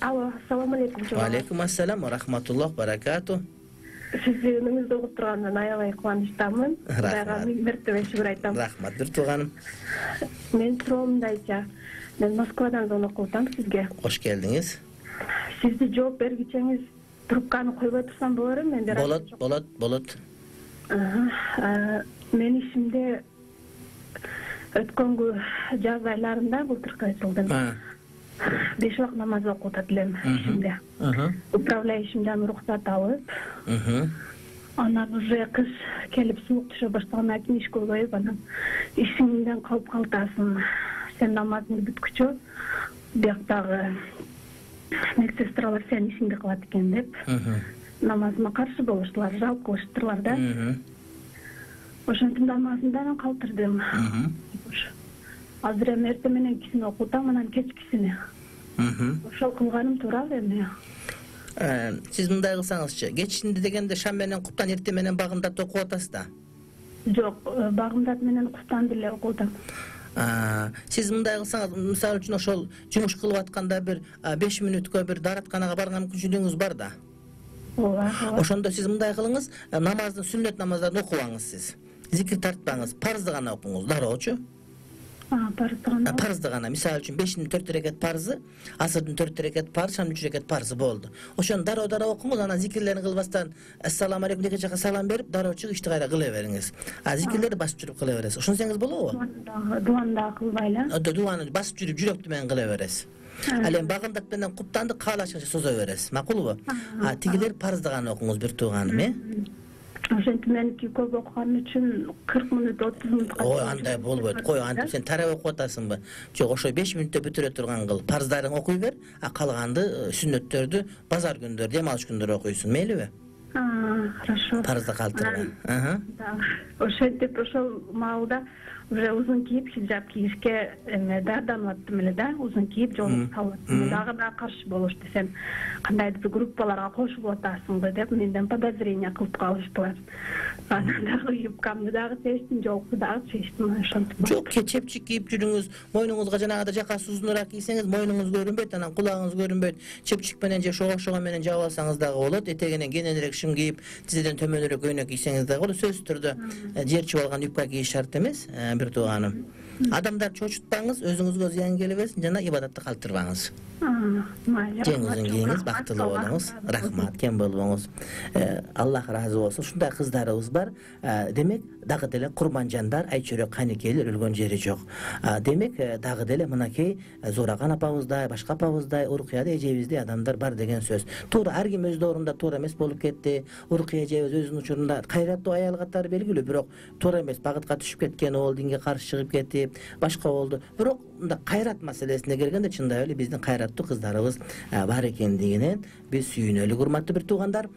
Алло, ассаламу алейкум. Алейкум ассалам ва рахматуллах баракату. Сизди үнүңүздү угуп тургандан аябай кубанычтамын. Рахмат. Миң мертебе шүгүр айтам. Рахмат бир тууганым. Мен суроом мындайча. Мен Москвадан звонок кылып атам сизге. Кош келдиңиз. Сизди жооп бергичеңиз трубканы койбой турсам болору? Мен Болот. Мен ишимде өткөнгү жаз айларында былтыркы жылдын 5 вакыт намаз окуп атат элем ишимде. Управляющийимден уруксат алып, анан уже кыш келип суук түшө баштагандан кийин ишке коюп, анан ишиңден калып калтасың. Сен намазыңды бүткүчө, бияктагы медсестралар сен ишиңди кылат экен деп, намазыма каршы болуштулар, жал кылыштылар да. Ошентип намазымдан калтырдым. Азыр эми эртең менен кисин окуп атам, анан кечкисини. Ошол кылганым туурабы эми? Сиз мындай кылсаңызчы, кечинди дегенде шам менен куптан, эртең менен багымдат окуп атасыз да? Жок, багымдат менен куптанды эле окуп атам. Сиз мындай кылсаңыз, мисалы үчүн ошол жумуш кылып атканда бир 5 мүнөткө бир дааратканага барган мүмкүнчүлүгүңүз бар да? Ооба. Ошондо сиз мындай кылыңыз, намаздын сүннөт намаздарын окубаңыз сиз. Зикир тартпаңыз, парызды гана окуңуз, дароочу. Парызды гана. Мисалы үчүн 5-тин 4 рекет парызы, асырдын 4 рекет парыз, шамдын 3 рекет парызы болду. Ошону дароо окуңуз, анан зикирлерин кылбастан ассаламу алейкум деген жака салам берип, дароо чыгып ишти кайра кыла бериңиз. Зикирлерди басып жүрүп кыла бересиз. Ошонсеңиз болобу? Дуаны да кылбай эле. Дуаны басып жүрүп жүрөктү менен кыла бересиз. Ал эми багымдат менен куптанды каалашканча созо бересиз. Макулбу? Тигилер парызды гана окуңуз бир тууганым, Ошентип меники көп окуган үчүн 40 мүнөт 30 мүнөткө. Ой, андай болбойт. Кой, антип сен тарап окуп атасыңбы? Жок, ошо 5 мүнөттө бүтүрө турган кыл. Парыздарың окуй бер, калганды сүннөттөрдү базар күндөрү, дем алыш күндөрү окуйсуң, мейлиби? Хорошо. Парызды калтырбай. Да. Ошентип ошол маалда уже узун кийип хиджаб кийишке даярданып аттым эле да, узун кийип жолугу салып аттым. Дагы да каршы болушту, сен кандайдыр бир группаларга кошулуп атасыңбы деп менден подозрение кылып калыштылар. Анан дагы юбкамды дагы чечтим, жолукту дагы чечтим, ошентип. Жок, чепчик кийип жүрүңүз, мойнуңузга жанагыдай жакасы узунураак кийсеңиз, мойнуңуз көрүнбөйт, анан кулагыңыз көрүнбөйт. Чепчик менен же шогошого менен жаап алсаңыз дагы болот. Этегинен кененирээк шым кийип, тизеден төмөнүрөөк көйнөк кийсеңиз дагы болот. Сөзсүз түрдө жер чыгып алган юбка кийиш шарт эмес, бир тууганым. Адамдар чочутпаңыз, өзүңүзгө зыян келбесин жана ибадатты калтырбаңыз. Жеңизин кийиңиз, бактылуу болуңуз. Рахмат, кем болбоңуз. Аллах ыраазы болсун. Ушундай кыздарыбыз бар. Демек, дагы деле курманжандар, айчөрөк канекейлер өлгөн жери жок. Демек, дагы деле мынакей Зораган апабыздай, башка апабыздай, Уркуя эжебиздей адамдар бар деген сөз. Туура ар ким өз доорунда туура эмес болуп кетти. Уркуя эжебиз өзүнүн учурунда кайраттуу аял катары белгилүү, бирок туура эмес багытка түшүп кеткен, ол динге каршы чыгып кетип, башка болду. Бирок мында кайрат маселесине келгенде чындап эле биздин кайраттуу кыздарыбыз бар экендигинен биз сүйүнөлүк, урматтуу бир туугандар.